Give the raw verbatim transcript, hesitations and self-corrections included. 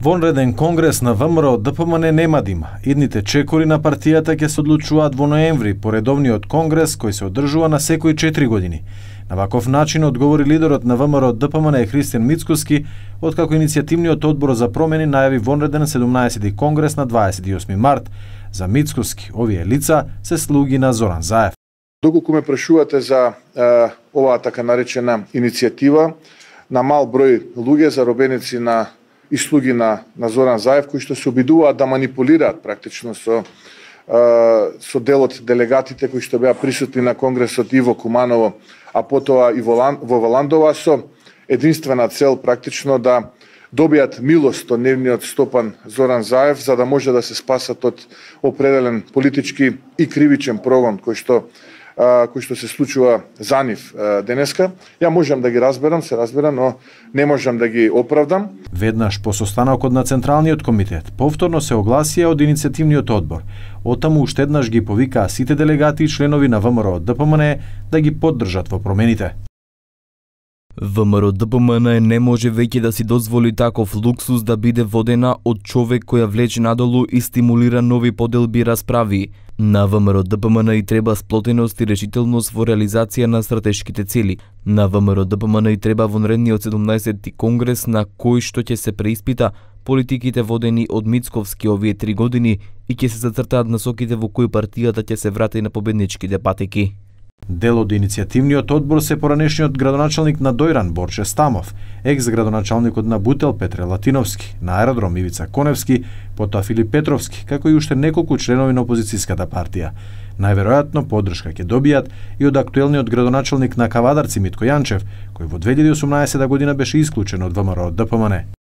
Вонреден конгрес на ВМРО ДПМН нема да има. Идните чекори на партијата ќе се одлучуваат во ноември по редовниот конгрес кој се одржува на секои четири години. На ваков начин одговори лидерот на ВМРО ДПМН Христијан Мицкоски, откако иницијативниот одбор за промени најави вонреден седумнаесети конгрес на дваесет и осми март. За Мицкоски, овие лица се слуги на Зоран Заев. Доколку ме прашувате за е, оваа така наречена иницијатива на мал број луѓе, заробеници на и слуги на, на Зоран Заев, кои што се обидуваат да манипулираат практично со, е, со делот делегатите кои што беа присутни на конгресот Иво Куманово, а потоа и во, во Валандова, со единствена цел практично да добијат милост од нивниот стопан Зоран Заев, за да може да се спасат од определен политички и кривичен прогон кој што кој што се случува за нив денеска. Ја можам да ги разберам, се разберам, но не можам да ги оправдам. Веднаш по состанокот на Централниот комитет повторно се огласија од иницијативниот одбор. Оттаму уште еднаш ги повикаа сите делегати и членови на ВМРО ДПМН да ги поддржат во промените. ВМРО ДПМН не може веќе да си дозволи таков луксус да биде водена од човек која влече надолу и стимулира нови поделби и расправи. На ВМРО ДПМН и треба сплотеност и решителност во реализација на стратешките цели. На ВМРО ДПМН и треба вонредниот седумнаесети конгрес на кој што ќе се преиспита политиките водени од Мицковски овие три години и ќе се зацртаат насоките во кои партијата ќе се врати на победничките патеки. Дел од иницијативниот одбор се поранешниот градоначалник на Дојран Борче Стамов, екс-градоначалникот на Бутел Петре Латиновски, на аеродром Ивица Коневски, потоа Филип Петровски, како и уште неколку членови на опозицијската партија. Најверојатно поддршка ќе добијат и од актуелниот градоначалник на Кавадарци Митко Јанчев, кој во две илјади и осумнаесета година беше исклучен од ВМРО ДПМН.